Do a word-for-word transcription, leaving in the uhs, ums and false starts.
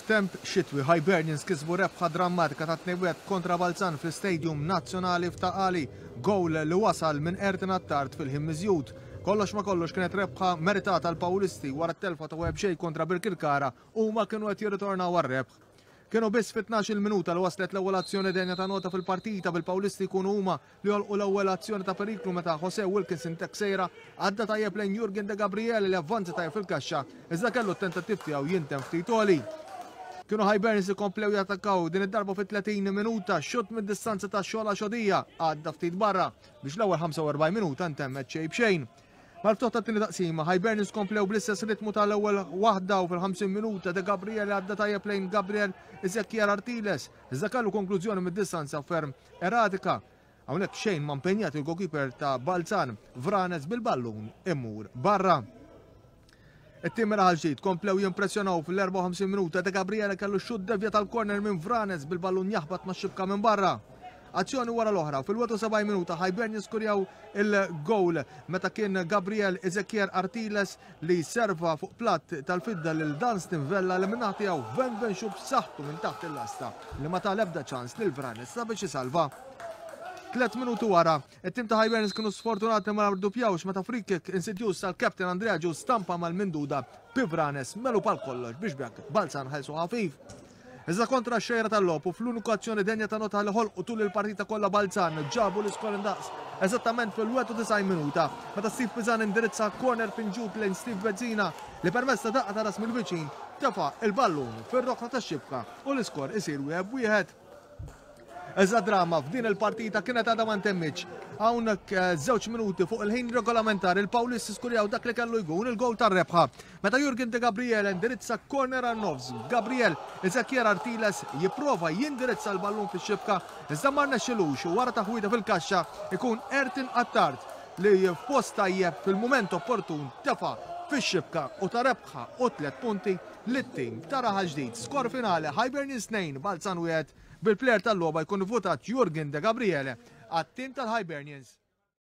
F'temp xitwi, Hibernians kisbu rebħa drammatika ta' tnejn kontra Balzan fl-Stadium Nazzjonali f'Ta' Qali, gowl li wasal minn Ayrton Attard fil-ħin miżjud. Kollox ma kollox, kienet rebħa meritata l-Pawlisti wara t-telfa ta' wieħed xejn kontra Birkirkara u ma kienu qed jirritornaw għar-rebħ. Kienu biss fit-tnax-il minuta li waslet l-ewwel azzjoni denja ta' nota fil-partita, bil-Pawlisti jkunu huma li jolqu l-ewwel azzjoni ta' periklu meta Jose Wilkinson Texeira għadda tajjeb lejn Jurgen De Gabriele li avvanza tajjeb fil-kaxxa, iżda kellu t-tentattiv tiegħu jintemm ftit għoli. Kienu Hibernians ikomplew jattakkaw, din id-darba fit-tletin minuta, xutt mid-distanza ta' Xola Xodija għadda ftit barra biex l-ewwel ħamsa u erbgħin minuta ntemmet xejn b'xejn. Mal-ftuħ tat-tieni taqsima, Hibernians komplew bl-istess ritmu tal-ewwel waħda u fil-ħamsin minuta De Gabriel għadda tajjeb lejn Gabriel Ezekiel Artiles. Iżda kellu konklużjoni mid-distanza ferm erratika. Hawnhekk xejn ma impenjat il-goalkeeper ta' Balzan, Vranes, bil-ballun imur barra. It-tim Raħal Ġdid komplew jimpressjonaw. Fil-erbgħa u ħamsin minuta De Gabriele kellu xutt devjat tal-corner minn Vranes bil-ballun jaħbat ma' xibka minn barra. Azzjoni wara l-oħra, fil-sebgħa u disgħin minuta Hibernians skurjaw il-goal meta kien Gabriel Ezekiel Artiles li serva fuq platt tal-fidda lil Dunstan Vella li min-naħa tiegħu venven xutt b'saħħtu minn taħt il-lasta li ma ta l-ebda ċans lil Vranes sabiex isalva. Tlet minuti wara, it-tim ta' Hibernians kienu sfortunati ma rduppjawx meta free kick insidjuż tal-captain Andrea Ġu stampa mal-minduda Pivranes melu pal kollox biex b'hekk Balzan ħelsu ħafif. Iżda kontra xejra tal-logħob u fl-uniku azzjoni denja ta' nota li ħolqu tul il-partita kollha, Balzan ġabu l-iskor indaqs eżattament fil-disgħa u disgħin minuta meta Steve Pizan indirizza corner pinġut lejn Steve Bezzina li permezz ta' daqqa ta' ras mill-viċin tefa' il-ballun fir-rokna tax-xibka u l-iskor isir wieħed wieħed. Iżda drama f'din il-partita kienet għadha ma ntemmitx. Hawnhekk eh, żewġ minuti fuq il-ħin regolamentari il-Pawlisti skurjaw dak li kellu jkun il-gol tar-rebħa meta Jurgen De Gabriel indirizza corner għan nofs. Gabriel Ezekiel Artiles jipprova jindirizza l-ballun fix-xibka, iżda ma rnexxilux, u wara taħwida fil-kaxxa ikun Ayrton Attard li f'post tajjeb fil-mument opportun tefa' fix-xibka u ta rebħa u tliet punti lit-tim ta' Raħal Ġdid. Skor finali, Hibernians tnejn, Balzan wieħed, bil-plejer tal-logħba jkun votat Jurgen De Gabriele għat-tim tal-Hibernians.